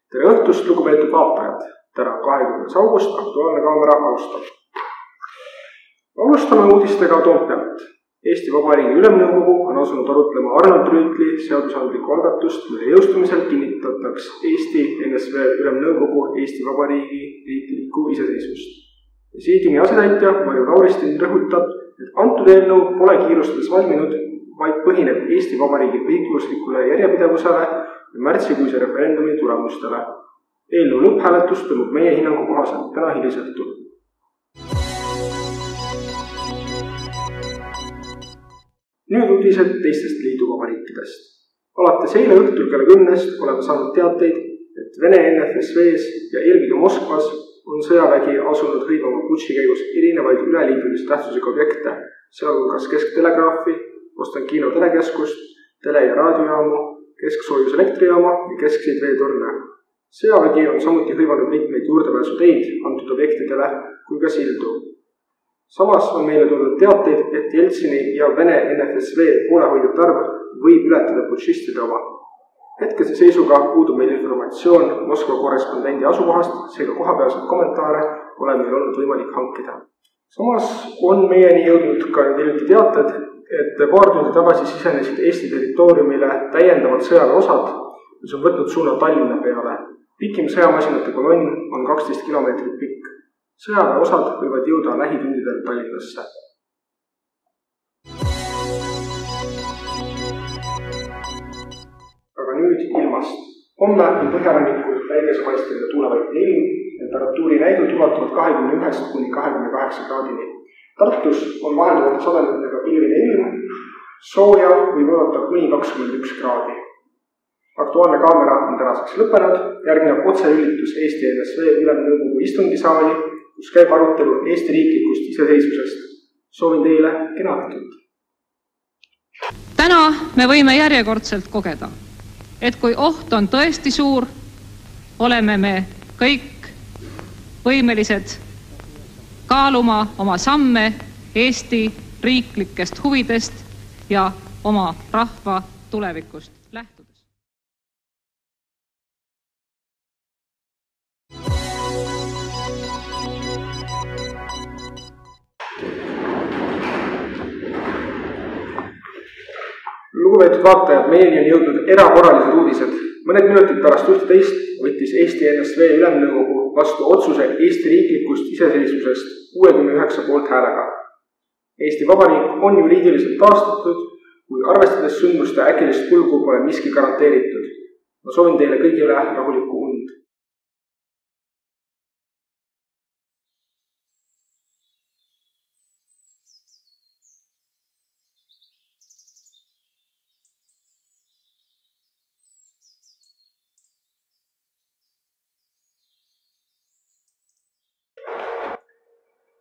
Tere õhtust, lugupeetud vaatajad! Täna 20. august, Aktuaalne kaamera alustab. Alustame uudistega Toompealt. Eesti Vabariigi Ülemnõukogu on asunud arutlema Arnold Rüütli seadusandlikku algatust, mille jõustumisel kinnitataks Eesti NSV Ülemnõukogu Eesti Vabariigi riiklikku iseseisvust. Presiidiumi asetäitja Marju Lauristin rõhutab, et antud eelnõu pole kiirustades valminud, vaid põhineb Eesti Vabariigi õiguslikule järjepidevusele ja märtsikuise referendumi tulemustele. Eelnõu lõpphääletus toimub meie hinnangu kohaselt täna hilisõhtul. Nüüd uudised teistest liiduvabariikidest. Alates eile õhtul kella 10 oleme saanud teateid, et Vene NFSV-s ja eelkõige Moskvas on sõjavägi asunud hõivama putši käigus erinevaid üleliidulise tähtsusega objekte, sealhulgas kesktelegraafi, Ostankino telekeskust, tele- ja raadiojaamu, kesksoojus elektrijaama ja keskseid veetorne. Sõjavägi on samuti hõivanud mitmeid juurdepääsuteid antud objektidele kui ka sildu. Samas on meile tulnud teateid, et Jeltsini ja Vene NFSV poolehoidjate arv võib ületada putšistide oma. Hetkese seisuga puudub meil informatsioon Moskva korrespondendi asukohast, seega kohapealseid kommentaare pole meil olnud võimalik hankida. Samas on meieni jõudnud ka hiljuti teated, et paar tundi tagasi sisenesid Eesti territooriumile täiendavad sõjaväeosad, mis on võtnud suuna Tallinna peale. Pikim sõjamasinate kolonn on 12 kilomeetrit pikk. Sõjaväeosad võivad jõuda lähitundidel Tallinnasse. Aga nüüd ilmast. Homme on põhjarannikul päikesepaisteline tuulevaitne ilm, temperatuuri näidud ulatuvad 21 kuni 28 kraadini. Tartus on vahelduvate sademetega pilvine ilm, sooja võib oodata kuni 21 kraadi. Aktuaalne kaamera on tänaseks lõppenud, järgneb otseülitus Eesti NSV Ülemnõukogu istungisaali, kus käib arutelu Eesti riiklikust iseseisvusest. Soovin teile kena õhtut. Täna me võime järjekordselt kogeda, et kui oht on tõesti suur, oleme me kõik võimelised kaaluma oma samme Eesti riiklikest huvidest ja oma rahva tulevikust lähtudes. Lugupeetud vaatajad, meieni on jõudnud erakorralised uudised. Mõned minutid pärast 11 võttis Eesti NSV Ülemnõukogu vastu otsuse Eesti riiklikust iseseisvusest 69 poolthäälega. Eesti Vabariik on juriidiliselt taastatud, kui arvestades sündmuste äkilist kulgu pole miski garanteeritud. Ma soovin teile kõigile rahulikku und.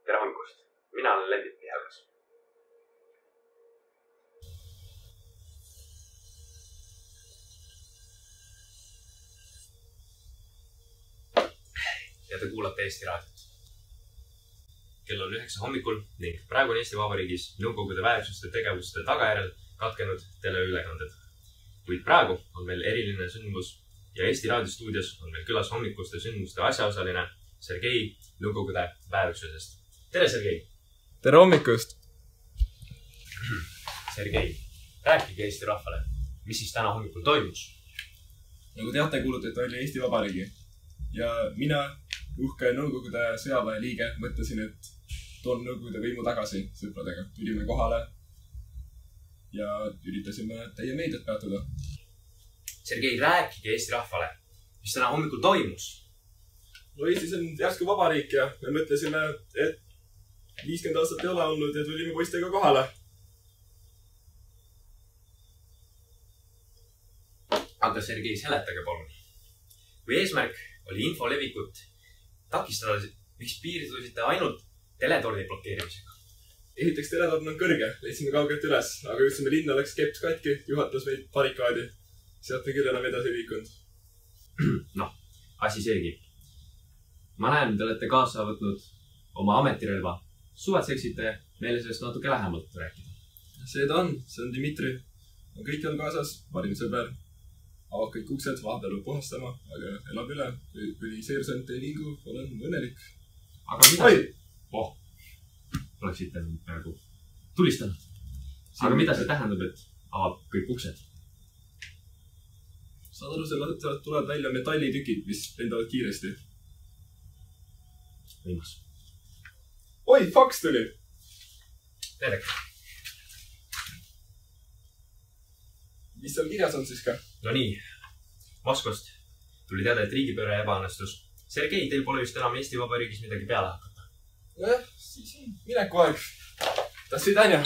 Tere hommikust! Mina olen Lendit Pihelgas. Ja te kuulate Eesti raadiot. Kell on 9 hommikul ning praegu on Eesti Vabariigis Nõukogude väeüksuste tegevuste tagajärjel katkenud teleülekanded. Kuid praegu on meil eriline sündmus ja Eesti raadiostuudios on meil külas hommikuste sündmuste asjaosaline Sergei Nõukogude väeüksusest. Tere, Sergei! Tere hommikust! Sergei, rääkige Eesti rahvale, mis siis täna hommikul toimus? Nagu teate, kuulutati välja Eesti Vabariigi ja mina, uhke Nõukogude sõjaväe liige, mõtlesin, et toon Nõukogude võimu tagasi sõpradega. Tulime kohale ja üritasime teie meediat peatuda. Sergei, rääkige Eesti rahvale, mis täna hommikul toimus? No Eestis on järsku vabariik ja me mõtlesime, et 50 aastat ei ole olnud ja tulime poistega kohale. Aga Sergei, seletage palun. Kui eesmärk oli info levikut takistada, miks piirdusite ainult teletorni blokeerimisega? Esiteks teletorn on kõrge, leidsime kaugelt üles, aga jõudsime linna, läks keps katki, juhatas meid barrikaadi. Sealt me küll enam edasi liikunud. Noh, asi seegi. Ma näen, te olete kaasa võtnud oma ametirelva. Suvatseksite meile sellest natuke lähemalt rääkida? See ta on, see on Dmitri. Kõik on kaasas, parim sõber. avad kõik uksed, vahepeal peab puhastama, aga elab üle. Kuni seersant ei vingu, olen õnnelik. Aga mida... Oleksite praegu tulistanud. Aga mida see tähendab, et avab kõik uksed? Saad aru, sealt tulevad välja metallitükid, mis lendavad kiiresti. Võimas. Oi, faks tuli! Terek. Mis seal kirjas on siis ka? No nii. Moskvast tuli teada, et riigipööre ebaõnnestus. Sergei, teil pole vist enam Eesti Vabariigis midagi peale hakata. Siis mineku aeg. До свидания.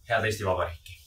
Head Eesti Vabariiki.